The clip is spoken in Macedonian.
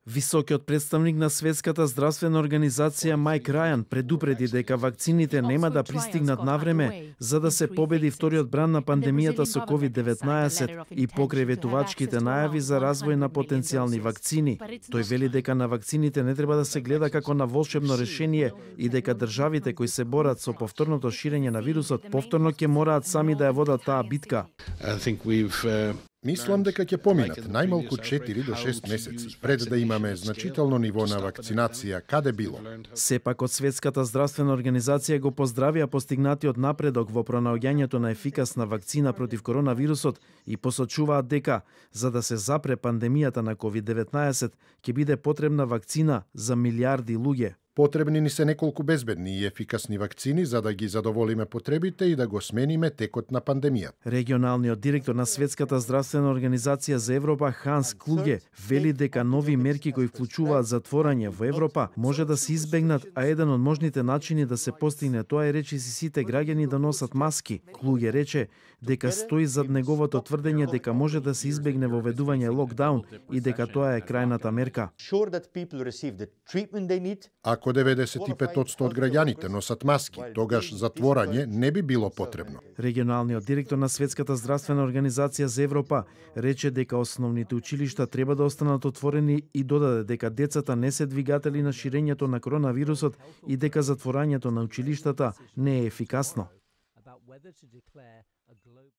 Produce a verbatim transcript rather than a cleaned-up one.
Високиот представник на Светската здравствена организација Мајк Рајан предупреди дека вакцините нема да пристигнат навреме за да се победи вториот бран на пандемијата со ковид деветнаесет и покрај ветувачките најави за развој на потенцијални вакцини. Тој вели дека на вакцините не треба да се гледа како на волшебно решение и дека државите кои се борат со повторното ширење на вирусот повторно ќе мораат сами да ја водат таа битка. Мислам дека ќе поминат најмалку четири до шест месеци пред да имаме значително ниво на вакцинација каде било. Сепак од Светската здравствена организација го поздравија постигнатиот напредок во пронаоѓањето на ефикасна вакцина против коронавирусот и посочуваат дека за да се запре пандемијата на ковид деветнаесет ќе биде потребна вакцина за милиарди луѓе. Потребни ни се неколку безбедни и ефикасни вакцини за да ги задоволиме потребите и да го смениме текот на пандемијата. Регионалниот директор на Светската здравствена организација за Европа Ханс Клуге вели дека нови мерки кои вклучуваат затворање во Европа може да се избегнат, а еден од можните начини да се постигне тоа е речиси сите граѓани да носат маски. Клуге рече дека стои зад неговото тврдење дека може да се избегне воведување локдаун и дека тоа е крајната мерка. Ако деветдесет и пет одсто од граѓаните носат маски, тогаш затворање не би било потребно. Регионалниот директор на Светската здравствена организација за Европа рече дека основните училишта треба да останат отворени и додаде дека децата не се двигатели на ширењето на коронавирусот и дека затворањето на училиштата не е ефикасно.